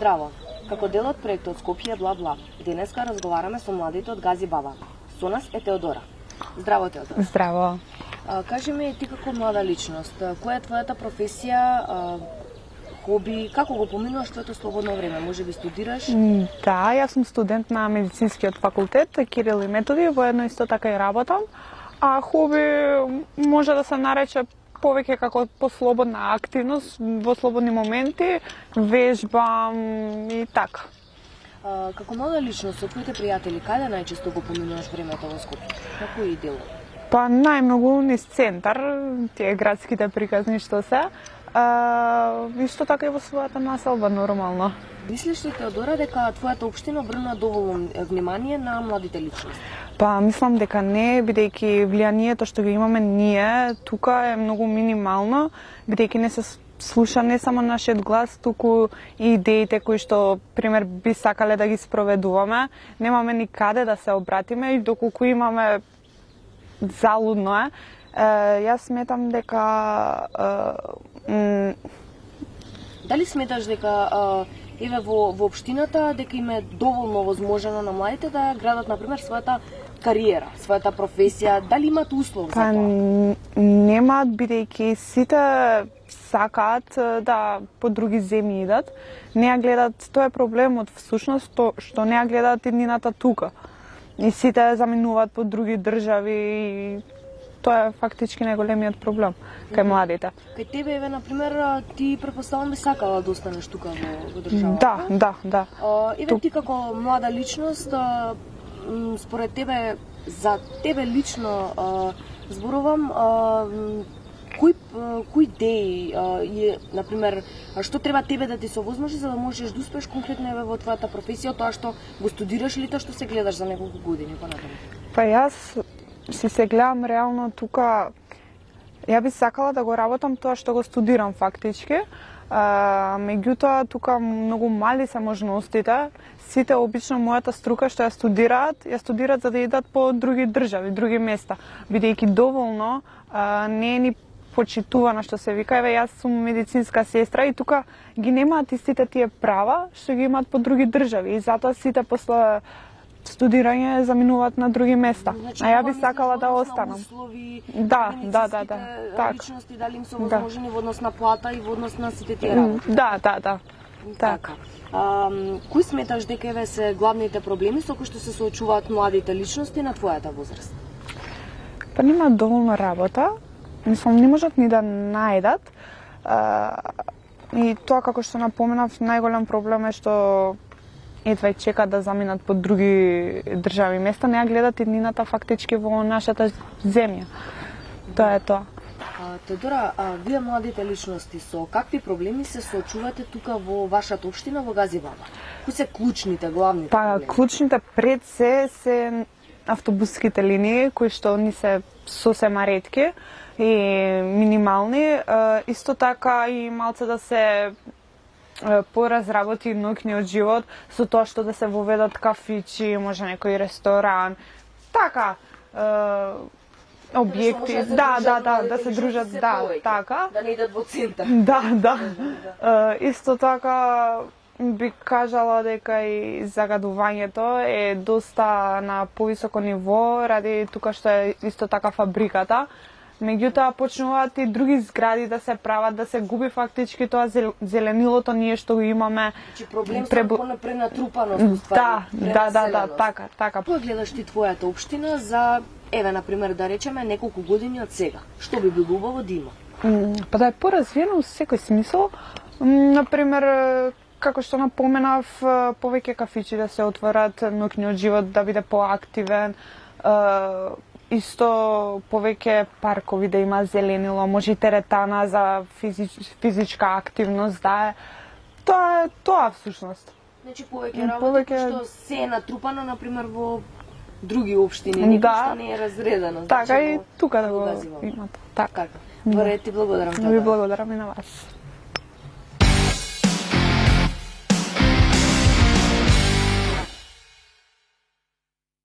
Здраво. Како дел од проектот Скопје бла бла, денеска разговараме со младите од Гази Баба. Со нас е Теодора. Здраво, Теодора. Здраво. Кажи ми, ти како млада личност, која е твојата професија, хоби, како го поминуваш твоето слободно време? Може би студираш? Да, јас сум студент на медицинскиот факултет Кирил и Методи, воедно исто така и работам. А хоби може да се нарече повеќе како послободна активност, во слободни моменти, вежбам и така. Како млада личност, со твоите пријатели, каде најчесто го поминуваш времето во Скопје? На кои дело? Па најмногу низ центар, тие градските приказни што се. Исто така и во својата населба нормално. Мислиш ли, Теодора, дека твојата општина обрна доволно внимание на младите личности? Па мислам дека не, бидејќи влијанието што го имаме ние тука е многу минимално, бидејќи не се слуша не само нашиот глас, туку и идеите кои што, пример, би сакале да ги спроведуваме. Немаме ни каде да се обратиме и доколку имаме, залудно е. Јас сметам дека Дали сметаш дека еве во општината дека им е доволно возможено на младите да градат, например, својата кариера, својата професија, дали имаат услов за тоа? Немаат, бидејќи сите сакаат да по други земји идат. Не ја гледат, тоа е проблемот всушност, што не ја гледаат иднината тука. И сите заминуваат по други држави и тоа е фактички најголемиот проблем кај младите. Кај тебе, еве, например, ти претпоставам би сакала да останеш тука во државата? Да. Еве ти како млада личност, според тебе, за тебе лично зборувам, кои идеи например, што треба тебе да ти се овозможи за да можеш да успееш конкретно еве во твојата професија, тоа што го студираш или тоа што се гледаш за неколку години понатаму? Па јас се гледам реално тука, ја би сакала да го работам тоа што го студирам фактички. Меѓутоа тука многу мали се можностите. Сите обично мојата струка што ја студираат за да идат по други држави, други места, бидејќи доволно не е ни почитувано што се вика. Еве јас сум медицинска сестра и тука ги немаат истите тие права што ги имаат по други држави и затоа сите после студирање заминуваат на други места. Значи, а ја би сакала да останам. Услови, да. Личности, дали им се овозможени во однос на плата и во однос на сите тие работи? Да. Така. Кои сметаш дека еве се главните проблеми со кои што се соочуваат младите личности на твојата возраст? Па нема доволно работа. Мислам, не можат ни да најдат. И тоа, како што напоменав, најголем проблем е што едва чекаат да заминат по други држави места, не ја гледат иднината фактички во нашата земја. Тоа е тоа. Теодора, вие младите личности со какви проблеми се соочувате тука во вашата општина во Гази Баба? Кои се клучните, главните проблеми? Па, клучните пред се автобуските линии, кои што ни се сосема ретки и минимални. Исто така и малце да се поразработи ноќниот живот со тоа што да се воведат кафичи, може некој ресторан, така, објекти, да се дружат, така. Да не идат во центар. Да. Исто така би кажала дека и загадувањето е доста на повисоко ниво ради тука што е исто така фабриката. Меѓутоа почнуваат и други згради да се прават, да се губи фактички тоа зеленилото ние што го имаме. Значи проблем со пренатрупаност уствари. Да, така. Кој гледаш ти твојата општина за, еве, например, да речеме неколку години од сега? Што би било убаво да има? Па да е поразвиено во секој смисол. Например, како што напоменав, повеќе кафичи да се отворат, ноќниот живот да биде поактивен, исто повеќе паркови да има зеленило, може и теретана за физичка активност, да е. Тоа е тоа всушност. Значи повеќе работи што се е натрупано, например, во други општини, што не е разредено. Така и тука да го имат. Така. Добре, ти благодарам. Ви благодарам и на вас.